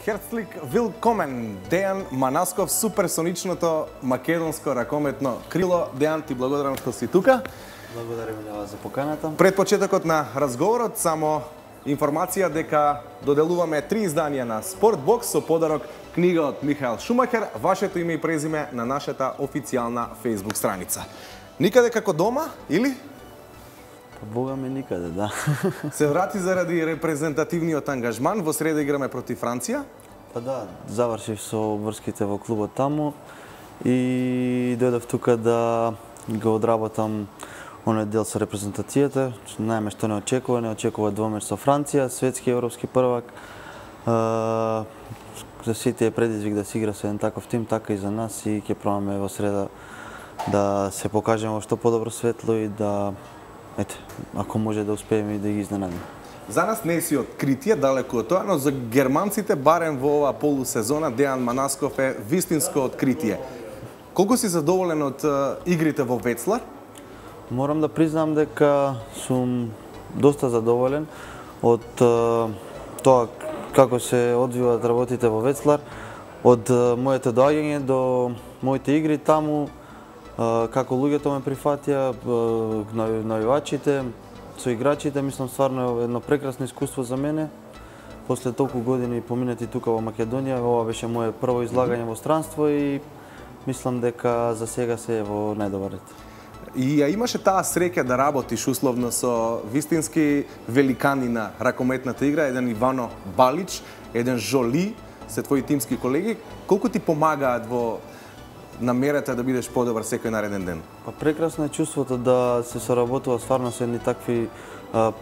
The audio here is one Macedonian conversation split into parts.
Херцлик Вилкомен, Дејан Манасков, суперсоничното македонско ракометно крило. Дејан, ти благодарам што си тука. Благодарам на вас за поканата. Пред почетокот на разговорот, само информација дека доделуваме 3 изданија на Спортбокс со подарок книга од Михаел Шумахер, вашето име и презиме на нашата официјална Facebook страница. Никаде како дома, или? Па Бога ми никаде, да. Се врати заради репрезентативниот ангажман, во среда играме против Франција? Па да, завршив со врските во клубот таму и дојдов тука да го одработам оној дел со репрезентацијата. Најме што не очекува двомеч со Франција, светски европски првак. За сите е предизвик да се игра со еден таков тим, така и за нас, и ќе пробаме во среда да се покажеме во што подобро светло и да, ако може да успееме и да ги изненадиме. За нас не си откритие, далеку од тоа, но за германците, барем во оваа полусезона, Дејан Манасков е вистинско откритие. Колку си задоволен од игрите во Вецлар? Морам да признам дека сум доста задоволен од тоа како се одвиваат работите во Вецлар, од моето доаѓање до моите игри таму, како луѓето ме прифатија, навивачите, со играчите, мислам стварно едно прекрасно искуство за мене. После толку години поминати тука во Македонија, ова беше мое прво излагање во странство и мислам дека за сега се е во најдобар ред. И ја имаше таа среќа да работиш условно со вистински великани на ракометната игра, еден Ивано Балич, еден Жоли, се твои тимски колеги. Колку ти помагаат во намерата да бидеш подобар секој нареден ден? Па прекрасно е чувството да се соработува стварно со едни такви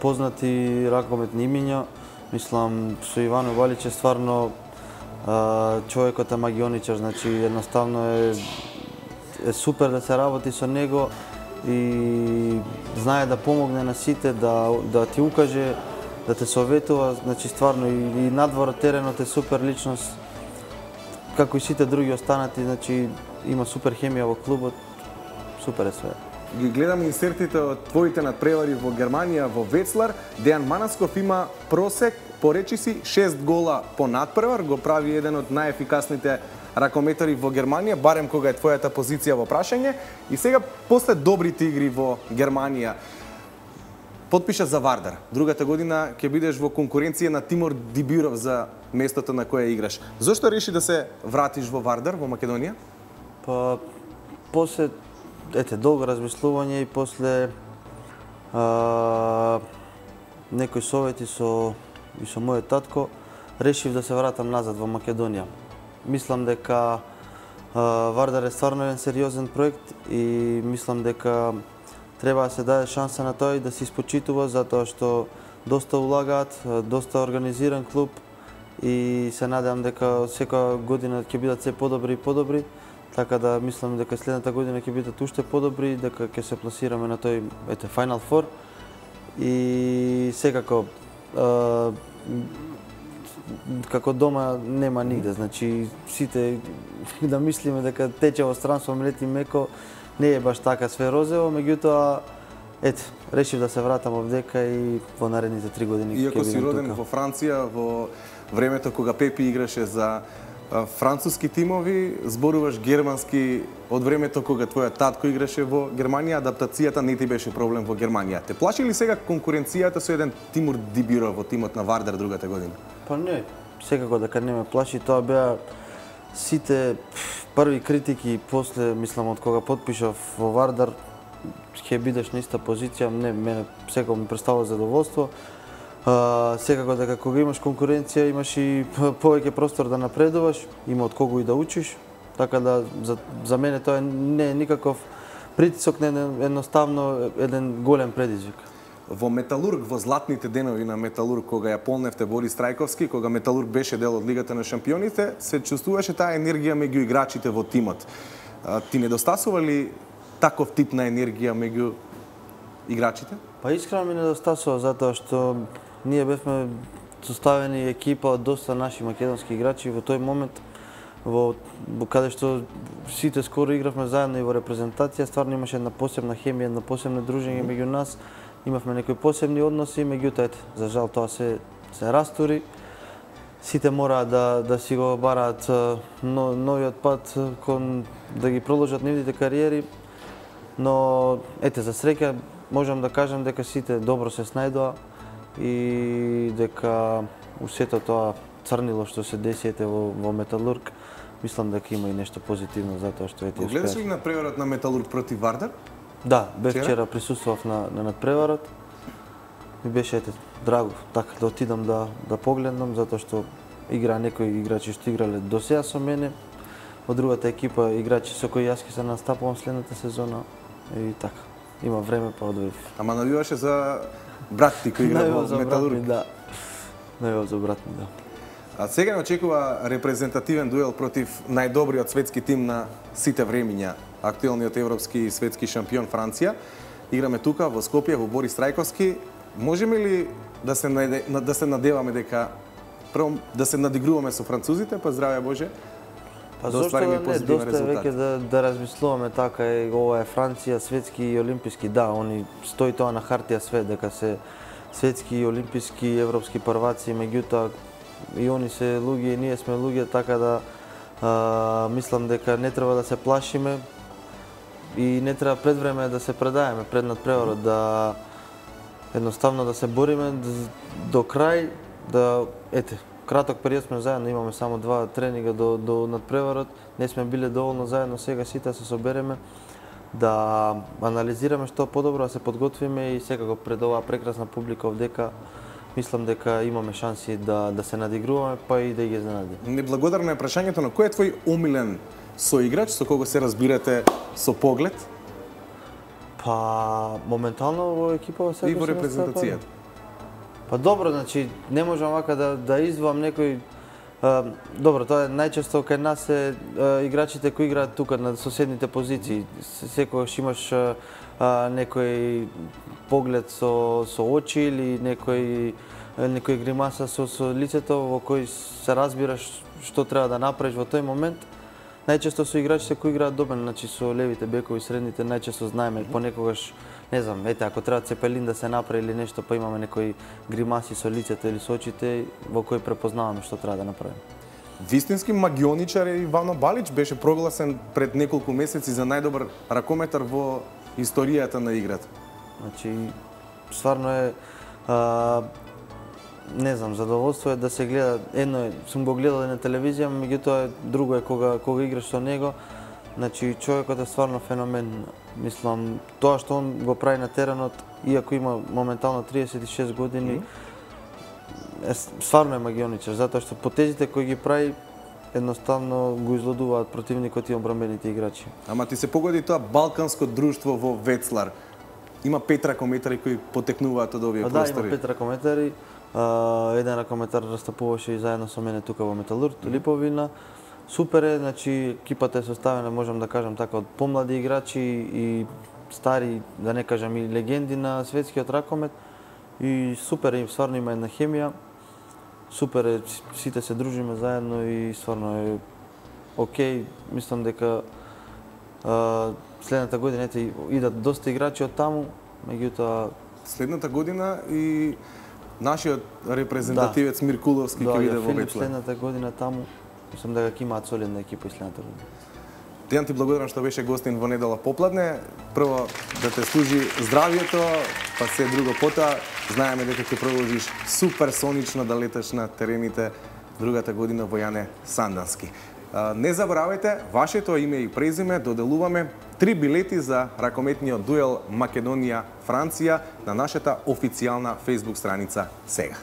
познати ракометни имиња. Мислам, со Ивано Балич е стварно човекот е магионичар, значи едноставно е супер да се работи со него и знае да помогне на сите, да ти укаже, да те советува, значи стварно и надвор теренот е супер личност, како и сите други останати, значи има супер хемија во клубот, супер е све. Ги гледам инсертите од твоите надпревари во Германија, во Вецлар. Дејан Манасков има просек, поречи си, 6 гола по надпревар, го прави еден од најефикасните ракометари во Германија, барем кога е твојата позиција во прашање. И сега, после добрите игри во Германија, потпиша за Вардар. Другата година ќе бидеш во конкуренција на Тимур Дибиров за местото на кое играш. Зошто реши да се вратиш во Вардар, во Македонија? Па, после долго размислување и после некои совети со мојот татко, решив да се вратам назад во Македонија. Мислам дека Вардар е стварно еден сериозен проект и мислам дека треба да се даде шанса на тој да се испочитува, затоа што доста улагаат, доста организиран клуб и се надевам дека секоја година ќе бидат се подобри и подобри, така да мислам дека следната година ќе бидат уште подобри, дека ќе се пласираме на тој Final Four и секако како дома нема нигде, значи сите да мислиме дека тече во странство млет и меко, не е баш така све розево, меѓутоа решив да се вратам овдека и во наредните 3 години ќе бидам тука. Иако си роден во Франција, во времето кога Пепи играше за француски тимови, зборуваш германски од времето кога твојот татко играше во Германија, адаптацијата не ти беше проблем во Германија. Те плаши ли сега конкуренцијата со еден Тимур Дибиров во тимот на Вардар другата година? Па не, секако дека не ме плаши, тоа беа сите први критики после, мислам, од кога потпишав во Вардар, ќе бидеш на иста позиција, не, мене секако ми представува задоволство. Секако дека кога имаш конкуренција, имаш и повеќе простор да напредуваш, има од кого и да учиш, така да за мене тоа не е никаков притисок, не едноставно еден голем предизвик. Во Металург, во златните денови на Металург, кога ја полневте Борис Трајковски, кога Металург беше дел од Лигата на шампионите, се чувствуваше таа енергија меѓу играчите во тимот. Ти недостасува ли таков тип на енергија меѓу играчите? Па искрено ми недостасува, затоа што ние бевме составени екипа од доста наши македонски играчи во тој момент, во каде што сите скоро игравме заедно и во репрезентација, стварно имаше една посебна хемија, една посебно дружење меѓу нас, имавме некои посебни односи, меѓутоа за жал тоа се растури. сите мора да си го бараат новиот пат кон да ги продолжат нивните кариери, но ете за среќа можам да кажам дека сите добро се снајдоа и дека у сето тоа црнило што се деси во Металург, мислам дека има и нешто позитивно затоа што успеа. Гледаш ли надпреварот на Металург против Вардар? Да, бев вчера, присуствував на надпреварот. Ми беше драго така да отидам да погледнам затоа што игра некои играчи што играле до сега со мене. Во другата екипа играчи со кои јас ќе се настапувам следната сезона и така. Има време па одвоив. Ама навиваше за брат ти кој игра во Металург? Да. Навивав за брат ми, да. А сега очекува репрезентативен дуел против најдобриот светски тим на сите времиња, актуелниот европски и светски шампион Франција. Играме тука во Скопје во Борис Трајковски. Можеме ли да се надеваме дека прво да се надигруваме со французите, па здравје Боже? Па зошто не, доста веќе да размислуваме така, ова е Франција, светски и олимписки, да, они стои тоа на хартија све, дека се светски и олимписки европски прваци, меѓутоа и они се луѓе и ние сме луѓе, така да мислам дека не треба да се плашиме и не треба пред време да се предаеме пред надпреварот, да едноставно да се бориме до крај, да краток период сме заедно, имаме само 2 тренинга до надпреварот, не сме биле доволно заедно, сега сите се собереме да анализираме што подобро, да се подготвиме и секако пред оваа прекрасна публика овдека мислам дека имаме шанси да се надигруваме, па и да ги изненадиме. Неблагодарно е прашањето, но кој е твој омилен соиграч со кого се разбирате со поглед? Па моментално во екипава сега и во репрезентацијата. Па добро, значи не можам вака да издвоам некој. Добро, тоа е најчесто кај нас е играчите кои играат тука на соседните позиции. Секогаш имаш некој поглед со очи или некој гримаса со лицето во кој се разбираш што треба да направиш во тој момент. Најчесто со играчите кои играат добро, значи со левите бекови, средните, најчесто знаеме, понекогаш, не знам, ако треба цепелин да се направи или нешто, па имаме некои гримаси со лицето или со очите во кои препознаваме што треба да направиме. Вистински магионичар е Ивано Балич, беше прогласен пред неколку месеци за најдобар ракометар во историјата на играта. Значи, стварно е не знам, задоволство е да се гледа. Едно е, сум го гледал на телевизија, меѓутоа друго е кога играш со него. Значи, човекот е стварно феномен. Мислам, тоа што он го прави на теренот, иако има моментално 36 години, стварно е магионичар, затоа што потезите кои ги прави едноставно го излудуваат противникот и одбранбените играчи. Ама ти се погоди тоа балканско друштво во Ветслар. Има 5 ракометари кои потекнуваат од овие простори. Да, има 5 ракометари. Еден ракометар растапуваше и заедно со мене тука во Металург, Липовина. Супер е, значи екипата е составена, можам да кажам така, од помлади играчи и стари, да не кажам и легенди на светскиот ракомет. И супер е, стварно има една хемија. Супер е, сите се дружиме заедно и стварно е окей. Мислам дека следната година идат доста играчи од таму, меѓутоа следната година и нашиот репрезентативец Миркуловски ќе биде во Ветслар. Следната година таму, мислам дека ќе имаат солидна екипа и следната година. Дејан, ти благодарам што беше гостин во недела попладне. Прво да те служи здравието, па се друго потоа. Знаеме дека ќе продолжиш суперсонично да леташ на терените другата година во Јане Сандански. Не заборавајте, вашето име и презиме доделуваме 3 билети за ракометниот дуел Македонија-Франција на нашата официјална Facebook страница сега.